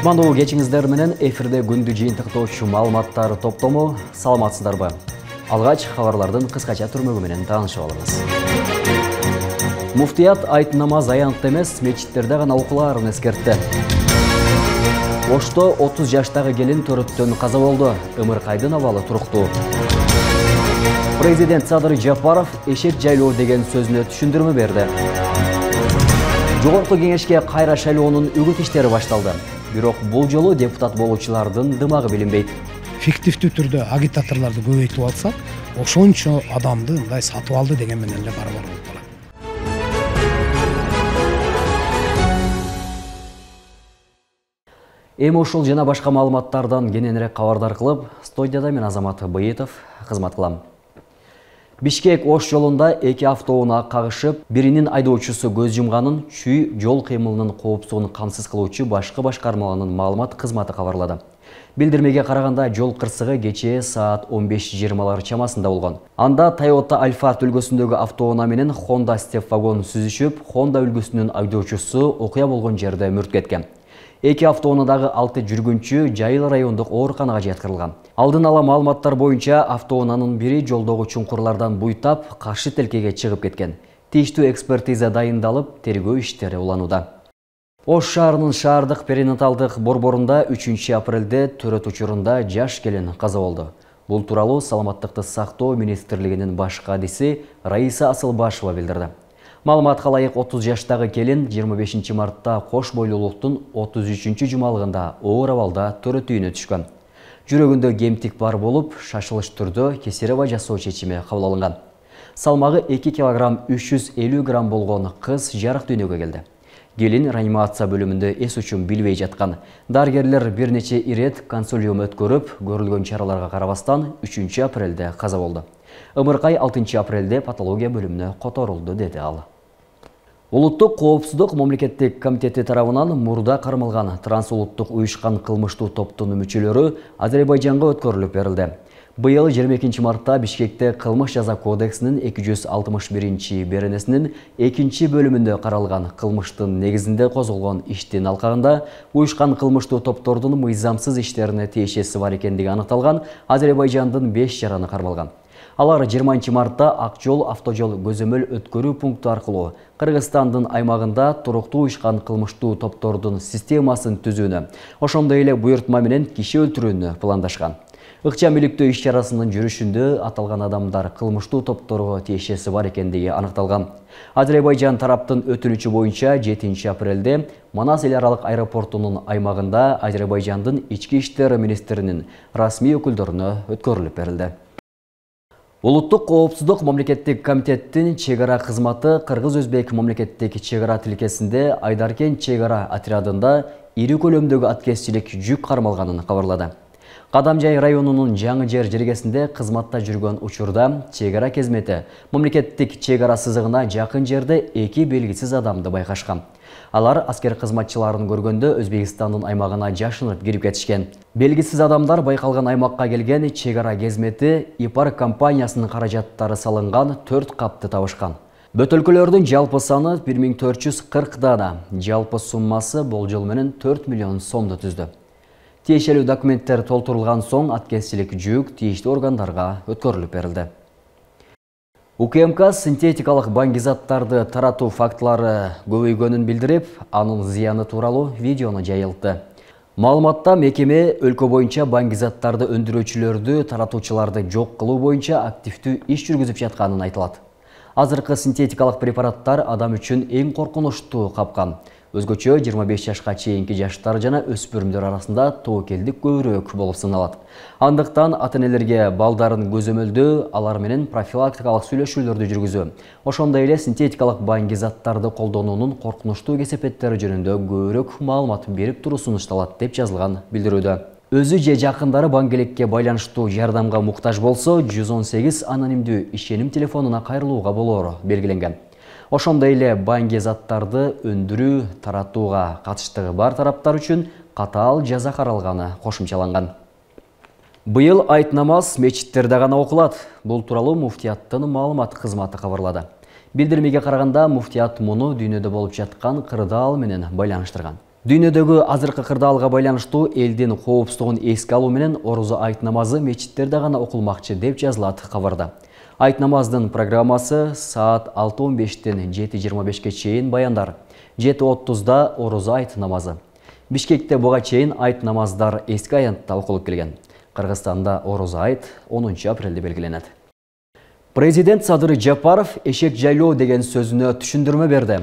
Кутмандуу кечиңиздер менен эфирде күндү жыйынтыктоочу маалыматтар топтому. Саламатсыздарбы? Алгач кабарлардын кыскача түрмөгү менен таанышып алыңыз. Муфтият айт намаз аянтта эмес, мечиттерде гана окулаарын эскертти. Ошто 30 жаштагы келин төрөттөн каза болду. Ымыркайдын абалы туруктуу. Президент Садыр Жапаров эшек жайлоо деген сөзүнө түшүндүрмө берди. Жогорку кеңешке кайра шайлоонун үгүт иштери башталды. Бирок бул жолу депутат болуучулардын дымагы билинбейт. Фиктивдүү түрдө агитаторлорду көбөйтүп алсак, ошончо адамды мындай сатып алды деген менен эле барабар болуп калат. Эми ушул жана башка маалыматтардан кененирээк кабардар кылып, студияда мен Азамат Быйытов кызмат кылам. Бишкек-Ош жолунда 2 автоунаа кагышып, биринин айдоочусу көз жумганын чүй жол кыймылынын коопсуздугун камсыз кылуучу башкы башкармаларынын маалымат кызматы кабарлады. Билдирмеге караганда жол кырсыгы кечээ саат 15:20 чамасында болгон. Анда Toyota Alphard үлгүсүндөгү автоунаа менен Honda Step вагон сүзүшүп, Honda үлгүсүнүн айдоочусу окуя болгон жерде мүрт кеткен. Эки автоунаадагы 6 жүргүнчү Жайыл райондук ооруканага жаткырылган. Алдын ала маалыматтар боюнча автоунаанын бири жолдогу чуңкурлардан буйтап, каршы телкеге чыгып кеткен. Тийиштүү экспертиза дайындалып, тергөө иштери уланууда. Ош шаарынын шаардык перинаталдык борборунда 3 апрелде төрөт учурунда жаш келин каза болду. Бул тууралуу Саламаттыкты сактоо министрлигинин баш кадиси Раиса Асылбашева билдирди. Маалыматка ылайык 30 жаштагы келин 25 мартта Кош бойлуулуктун 33 жумалыгында оор абалда төрөт үйүнө түшкөн. Жүрөгүндө кемтик бар болуп, шашылыш түрдө кесарево жасоо чечими кабыл алынган. Салмагы 2 кг 350 грамм болгон кыз жарык дүйнөгө келди. Келин реанимация бөлүмүндө эс учун билбей жаткан. Дарыгерлер бир нече ирет консилиум өткөрүп, көрүлгөн чараларга карабастан 3 апрелде каза болду. Ымыркай 6 апрелде патология бөлүмүнө которулду, деди ал. Улуттук коопсуздук мамлекеттик комитети тарабынан мурда кармалган трансулуттук уюшкан кылмыштуу топтун мүчөлөрү Азербайжанга өткөрүлүп берилди. Быйыл 22 мартта Бишкекте кылмыш жаза кодексинин 261 беренесинин 2 бөлүмүндө каралган кылмыштын негизинде козголгон иштин алкагында уюшкан кылмыштуу топтордун мыйзамсыз иштерине тиешеси бар экендиги аныкталган Азербайжандын 5 жараны кармалган. Алар 20 мартта Акжол автожол көзөмөл өткөрүү пункту аркылуу Кыргызстандын аймагында туруктуу уюшкан кылмыштуу топтордун системасын түзүүнү, ошондой эле буйртма менен киши өлтүрүүнү пландашкан. Ыкчам иликтөө иш-чарасынын жүрүшүндө аталган адамдар кылмыштуу топторго тиешеси бар экендиги аныкталган. Азербайжан тараптын өтүнүчү боюнча 7 апрелде Манас эл аралык аэропортунун аймагында Азербайжандын ички иштер министринин расмий өкүлдөрүнө өткөрүлүп берилди. Улуттук коопсуздук мамлекеттик комитеттин чек-ара кызматы Кыргыз-Өзбек мамлекеттик чек-ара тилкесинде Айдаркен чек-ара отрядында ири көлөмдөгү аткезчилик жүк кармалганын кабарлады. Кадамжай районунун Жаңы жер жергесинде кызматта жүргөн учурда чек-ара кезмети мамлекеттик чек-ара сызыгына жакын жерде 2 белгисиз адамды байкашкан. Алар аскер кызматчыларын көргөндө Өзбекстандын аймагына жашынып кирип кетишкен. Белгисиз адамдар байкалган аймакка келген чек-ара кезмети ИПАР компаниясынын каражаттары салынган 4 капты табышкан. Бөтөлкөлөрдүн жалпы саны 1440 дана, жалпы суммасы болжол менен 4 миллион сомду түздү. Тиешелүү документтер толтурулган соң аткезчилик жүк тийиштүү органдарга өткөрүлүп берилди. УКМК синтетикалык баңгизаттарды таратуу фактылары көбөйгөнүн билдирип, анын зыяны тууралуу видеону жайылтты. Маалыматта мекеме өлкө боюнча баңгизаттарды өндүрүүчүлөрдү, таратуучуларды жок кылуу боюнча активдүү иш жүргүзүп жатканын айтылат. Азыркы синтетикалык препараттар адам үчүн эң коркунучтуу капкан. Өзгөчө 25 жашка чейинки жаштар жана өспүрүмдөр арасында тобокелдик көбүрөөк болуп саналат. Андыктан ата-энелерге балдарын көзөмөлдөө, алар менен профилактикалык сүйлөшүүлөрдү жүргүзүү, ошондой эле синтетикалык баңгизаттарды колдонуунун коркунучтуу кесепеттери жөнүндө көбүрөөк маалымат берип туруу сунушталат, деп жазылган билдирүүдө. Өзү же жакындары баңгеликке байланыштуу жардамга муктаж болсо, 118 анонимдүү ишеним телефонуна кайрылууга болоору белгиленген. Ошондой эле баңгизаттарды өндүрүү, таратууга катыштыгы бар тараптар үчүн катаал жаза каралганы кошумчаланган. Быйыл айт намаз мечиттерде гана окулат. Бул тууралуу муфтияттын маалымат кызматы кабарлады. Билдирмеге караганда, муфтият муну дүйнөдө болуп жаткан кырдаал менен байланыштырган. Дүйнөдөгү азыркы кырдаалга байланыштуу элдин коопсуздугун эске алуу менен орозо айт намазы мечиттерде гана окулмакчы деп жазылат кабарда. Айт намаздын программасы саат 6:15тен 7:25 чейин баяндар, 7:30да орозо айт намазы. Бишкекте буга чейин айт намаздар эски аянтта окулуп келген. Кыргызстанда орозо айт 10 апрелде белгиленет. Президент Садыр Жапаров эшек жайлоо деген сөзүнө түшүндүрмө берди.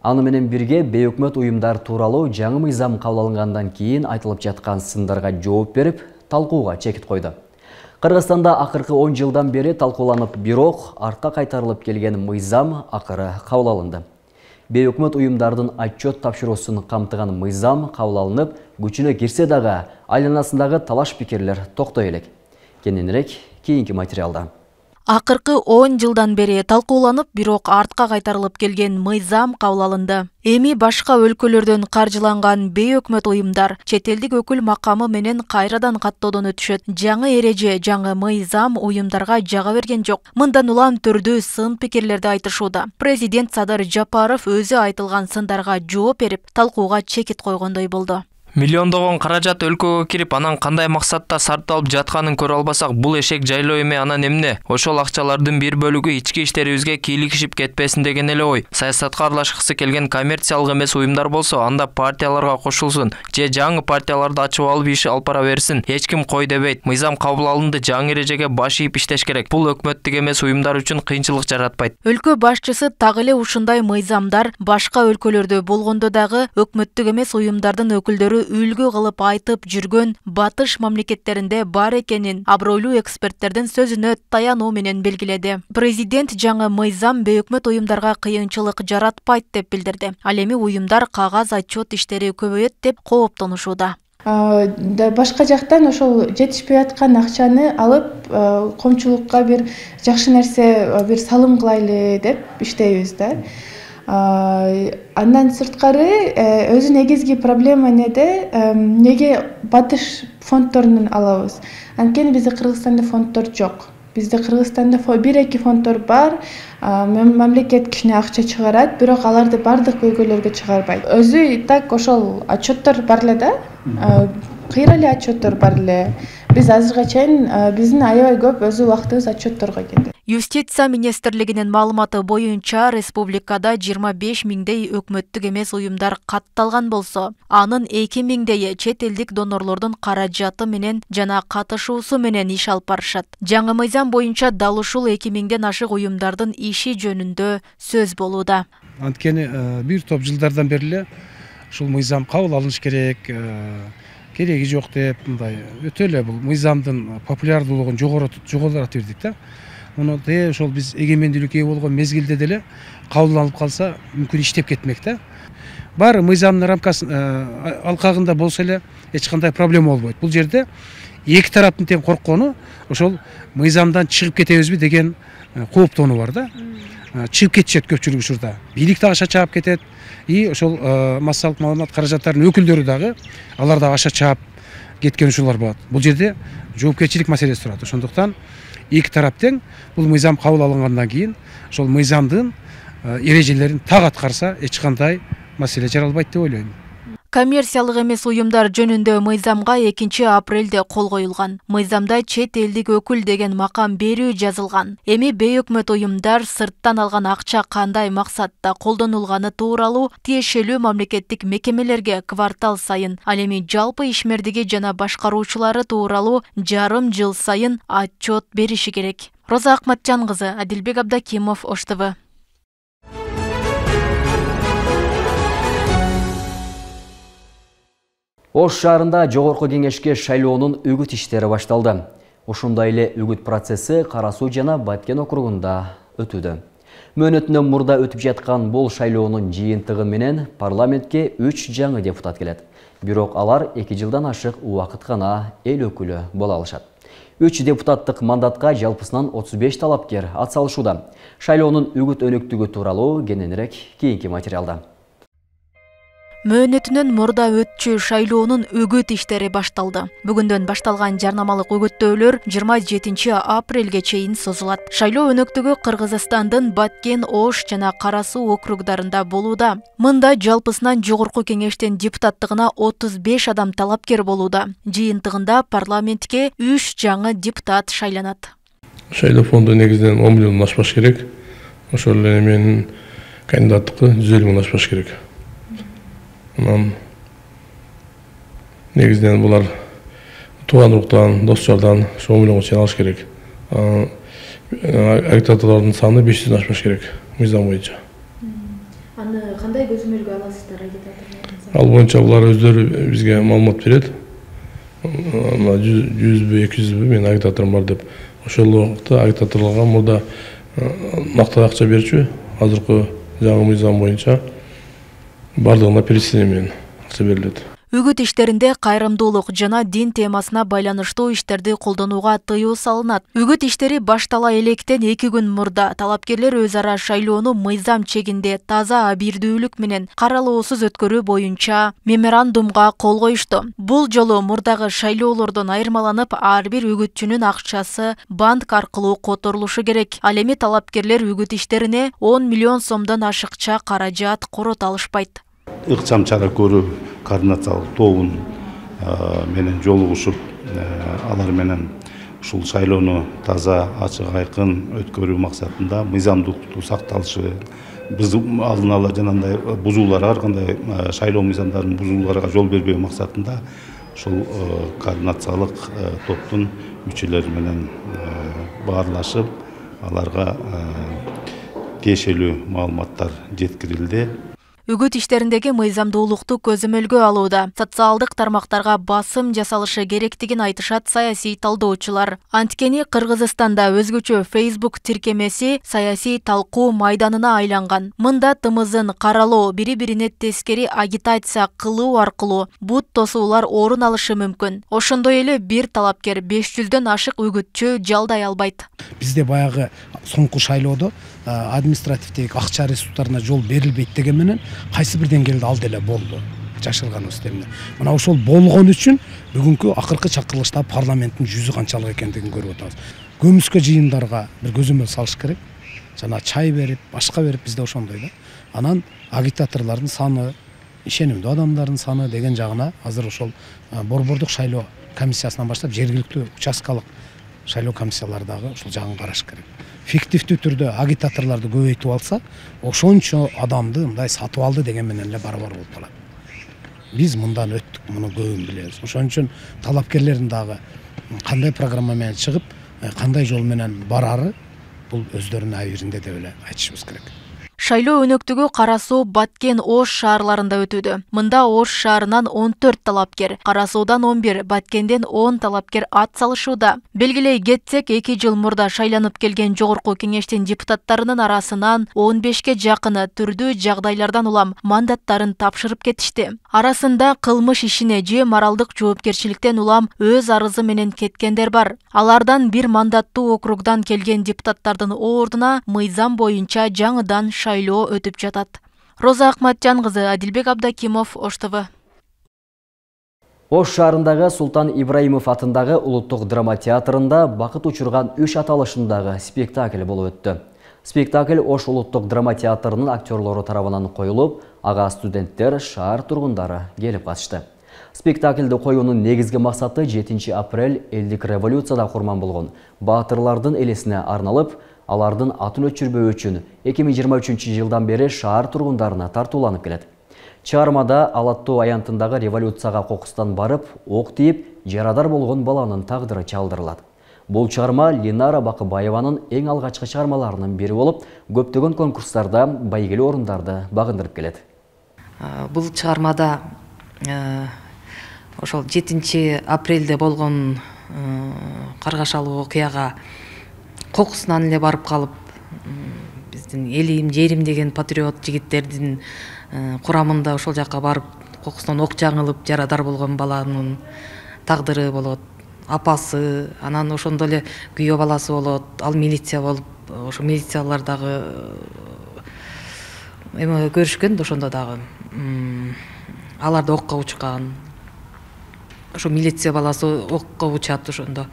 Аны менен бирге бейөкмөт уюмдар тууралуу жаңы мыйзам кабыл алынгандан кийин айтылып жаткан сындарга жооп берип, талкууга чекит койду. Кыргызстанда акыркы 10 жылдан бери талкууланып, бирок артка кайтарылып келген мыйзам акыры кабыл алынды. Бейөкмөт уюмдардын отчет тапшыруусун камтыган мыйзам кабыл алынып, күчүнө кирсе дагы айланасындагы талаш пикирлер токтой элек. Кененирээк кийинки материалда. Акыркы 10 жылдан бери талкууланып, бирок артка кайтарылып келген мыйзам кабыл алынды. Эми башка өлкөлөрдөн каржыланган бейөкмөт уюмдар чет элдик өкүл макамы менен кайрадан каттоодон өтүшөт. Жаңы эреже, жаңы мыйзам уюмдарга жага берген жок. Мындан улам түрдүү сын пикирлерди айтышууда. Президент Садыр Жапаров өзү айтылган сындарга жооп берип, талкууга чекит койгондой болду. Миллиондогон каражат өлкөгө кирип, анан кандай максатта сарпталып жатканын көрө албасак, бул эшек жайлоо эме анан эмне? Ошол акчалардын бир бөлүгү ички иштерибизге кийлигишип кетпесин деген эле ой. Саясатка аралашкысы келген коммерциялык эмес уюмдар болсо, анда партияларга кошулсун, же жаңы партияларды ачып алып иш алып бара берсин. Эч ким кой дебейт. Мыйзам кабыл алынды, жаңы эрежеге баш ийип иштеш керек. Бул өкмөттүк эмес уюмдар үчүн кыйынчылык жаратпайт. Өлкө башчысы так эле ушундай мыйзамдар башка өлкөлөрдө болгондо дагы өкмөттүк эмес уюмдардын өкүлдөрү үлгү кылып айтып жүргөн батыш мамлекеттеринде бар экенин абройлуу эксперттердин сөзүнө таянуу менен белгиледи. Президент жаңы мыйзам бейөкмөт уюмдарга кыйынчылык жаратпайт деп билдирди. Ал эми уюмдар кагаз отчет иштери көбөйөт деп кооптонушууда. Башка жактан ошол жетишпей аткан акчаны алып, коомчулукка бир жакшы нерсе, бир салым кылайлы деп иштейбиз да. Андан сырткары өзү негизги проблема неге батыш фонддорунан алабыз? Анткени бизде Кыргызстанда фонддор жок. Бизде Кыргызстанда бир-эки фонддор бар, мамлекет кичине акча чыгарат, бирок аларды бардык көйгөйлөргө чыгарбайт. Өзү так ошол отчеттор бар эле да, кыйра эле отчеттор бар эле. Биз азырга чейин биздин аябай көп өзү убактыбыз отчетторго кетет. Юстиция министрлигинин маалыматы боюнча республикада 25 миңдей өкмөттүк эмес уюмдар катталган болсо, анын 2 миңдейи чет элдик донорлордун каражаты менен жана катышуусу менен иш алып барышат. Жаңы мыйзам боюнча дал ушул 2 миңден ашык уюмдардын иши жөнүндө сөз болууда. Анткени бир топ жылдардан бери эле ушул мыйзам кабыл алыныш керек, кереги жок деп, мындай өтө эле бул мыйзамдын популярдуулугун жогорулата бердик да. Муну ошол биз эгемендүүлүккө ээ болгон мезгилде деле кабыл алып калса, мүмкүн иштеп кетмек да. Баары мыйзамдын рамкасын алкагында болсо эле эч кандай проблема болбойт. Бул жерде эки тараптын тең корккону ошол мыйзамдан чыгып кетебизби деген кооптонуу бар да. Чыгып кетишет көпчүлүк учурда. Бийлик дагы аша чаап кетет. Ошол массалык маалымат каражаттарынын өкүлдөрү дагы алар дагы аша чаап кеткен учурлар болот. Бул жерде жоопкерчилик маселеси турат. Ошондуктан эки тарап тең бул мыйзам кабыл алынгандан кийин ошол мыйзамдын эрежелерин так аткарса, эч кандай маселе жаралбайт деп ойлойм. Коммерциялык эмес уюмдар жөнүндө мыйзамга 2 апрелде кол коюлган. Мыйзамда чет элдик өкүл деген макам берүү жазылган. Эми бейөкмөт уюмдар сырттан алган акча кандай максатта колдонулганы тууралуу тиешелүү мамлекеттик мекемелерге квартал сайын, ал эми жалпы ишмердиги жана башкаруучулары тууралуу жарым жыл сайын отчет бериши керек. Роза Акматжан кызы, Адилбек Абдакимов, Ош ТВ. Ош шаарында жогорку кеңешке шайлоонун үгүт иштери башталды. Ошондой эле үгүт процесси Кара Суу жана Баткен округунда өтүүдө. Мөөнөтүнөн мурда өтүп жаткан бул шайлоонун жыйынтыгы менен парламентке 3 жаңы депутат келет. Бирок алар 2 жылдан ашык убакыт гана эл өкүлү боло алышат. 3 депутаттык мандатка жалпысынан 35 талапкер атсалышууда. Шайлоонун үгүт өнөктүгү тууралуу кененирээк кийинки материалда. Мөөнөтүнөн мурда өтчү шайлоонун үгүт иштери башталды. Бүгүндөн башталган жарнамалык үгүттөөлөр 27 апрелге чейин созулат. Шайлоо өнөктүгү Кыргызстандын Баткен, Ош жана Кара Суу округдарында болууда. Мында жалпысынан жогорку кеңештин депутаттыгына 35 адам талапкер болууда. Жыйынтыгында парламентке 3 жаңы депутат шайланат. Шайлоо фонду негизинен 10 миллион ашпаш керек. Ошол эле менин кандидаттыкы 150 миң ашпаш керек. Анан негизинен булар тууган уруктан, дос жардан 10 миллионго чейин алыш керек. Агитаторлордун саны 500 ашпаш керек мыйзам боюнча. Аны кандай көзөмөлгө аласыздар агитаторлордун? Ал боюнча булар өздөрү бизге маалымат берет. 100бү, 200бү мен агитаторум бар деп. Ошол убакта агитаторлорго мурда мактап акча берчү, азыркы жаңы мыйзам боюнча бардыгына перечисление менен акча берилет. Үгүт иштеринде кайрымдуулук жана дин темасына байланыштуу иштерди колдонууга тыюу салынат. Үгүт иштери баштала электен 2 күн мурда талапкерлер өз ара шайлоону мыйзам чегинде таза абийирдүүлүк менен каралоосуз өткөрүү боюнча меморандумга кол коюшту. Бул жолу мурдагы шайлоолордон айырмаланып, ар бир үгүтчүнүн акчасы банк аркылуу которулушу керек. Ал эми талапкерлер үгүт иштерине 10 миллион сомдон ашыкча каражат корото алышпайт. Ыкчам чара көрүү координациялык тобун менен жолугушуп, алар менен ушул шайлоону таза, ачык, айкын өткөрүү максатында мыйзамдуулукту сакталышы, алдын ала жанагындай бузууларга, ар кандай шайлоо мыйзамдарынын бузууларга жол бербөө максатында ушул координациялык топтун мүчөлөрү менен баарлашып, аларга тиешелүү маалыматтар жеткирилди. Үгүт иштериндеги мыйзамдуулукту көзөмөлгө алууда социалдык тармактарга басым жасалышы керектигин айтышат саясий талдоочулар. Анткени Кыргызстанда өзгөчө Facebook тиркемеси саясий талкуу майданына айланган. Мында тымызын каралоо, бири-бирине тескери агитация кылуу аркылуу бут тосуулар орун алышы мүмкүн. Ошондой эле бир талапкер 500дөн ашык үгүтчү жалдай албайт. Бизде баягы соңку шайлоодо административдеги акча ресурстарына жол берилбейт деген менен кайсы бир деңгээлде ал деле болду. Жашырганыбыз эмне. Мына ошол болгон үчүн бүгүнкү акыркы чакырылышта парламенттин жүзү канчалык экендигин көрүп атабыз. Көмүскө жыйындарга бир көзөмөл салыш керек. Жана чай берип, башка берип бизде ошондой да. Анан агитаторлордун саны, ишенимдүү адамдардын саны деген жагына азыр ошол борбордук шайлоо комиссиясынан баштап жергиликтүү участкалык шайлоо комиссиялары дагы ушул жагын караш керек. Фиктивдүү түрдө агитаторлорду көбөйтүп алса, ошончо адамды мындай сатып алды деген менен эле барабар болуп калат. Биз мындан өттүк, муну көбүн билебиз. Ошон үчүн талапкерлердин дагы кандай программа менен чыгып, кандай жол менен барары бул өздөрүнүн абийиринде деп эле айтышыбыз керек. Шайлоо өнөктүгү Кара Суу, Баткен, Ош шаарларында өтүүдө. Мында Ош шаарынан 14 талапкер, Кара Суудан 11, Баткенден 10 талапкер ат салышууда. Белгилей кетсек, 2 жыл мурда шайланып келген жогорку кеңештин депутаттарынын арасынан 15ке жакыны түрдүү жагдайлардан улам мандаттарын тапшырып кетишти. Арасында кылмыш ишине же моралдык жоопкерчиликтен улам өз арызы менен кеткендер бар. Алардан бир мандаттуу округдан келген депутаттардын ордуна мыйзам боюнча жаңыдан шайлоо өтүп жатат. Роза Акматжан кызы, Адилбек Абдакимов, Ош ТВ. Ош шаарындагы Султан Ибраимов атындагы улуттук драма театрында бакыт учурган 3 аталышындагы спектакль болуп өттү. Спектакль Ош улуттук драма театрынын актерлору тарабынан коюлуп, ага студенттер, шаар тургундары келип катышты. Спектакльди коюунун негизги максаты 7 апрель элдик революцияда курман болгон баатырлардын элесине арналып, алардын атын өчүрбөө үчүн 2023 жылдан бери шаар тургундарына тартууланып келет. Чыгармада Алаттуу аянтындагы революцияга кокустан барып, ок тийип, жарадар болгон баланын тагдыры чалдырылат. Бул чыгарма Линара Бакыбаеванын эң алгачкы чыгармаларынын бири болуп, көптөгөн конкурстарда байгелүү орундарды багындырып келет. Бул чыгармада ошол 7 апрелде болгон каргашалуу окуяга кокусунан эле барып калып, биздин элим, жерим деген патриот жигиттердин курамында ошол жакка барып, кокусунан ок жаңылып, жарадар болгон баланын тагдыры болот, апасы, анан ошондо эле күйөө баласы болот, ал милиция болуп, ошо милициялар дагы эме көрүшкөн да ошондо дагы. алар да окко учкан. Ошо милиция баласы окко учат ошондо.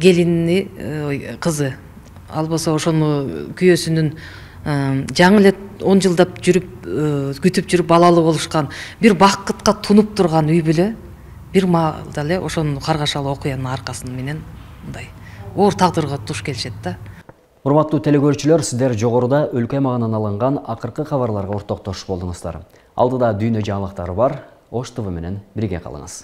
Келини, кызы. Ал болсо ошону күйөөсүнүн жаңы эле 10 жылдап жүрүп, күтүп жүрүп балалуу болушкан, бир бакытка тунуп турган үй бүлө бир маалда эле ошонун каргашалуу окуянын аркасынан менен мындай оор тагдырга туш келишет да. Урматтуу телекөрүүчүлөр, сиздер жогоруда өлкө аймагынан алынган акыркы кабарларга ортоктош болдуңуздар. Алдыда дүйнө жаңылыктары бар. Ош ТВ менен бирге калыңыз.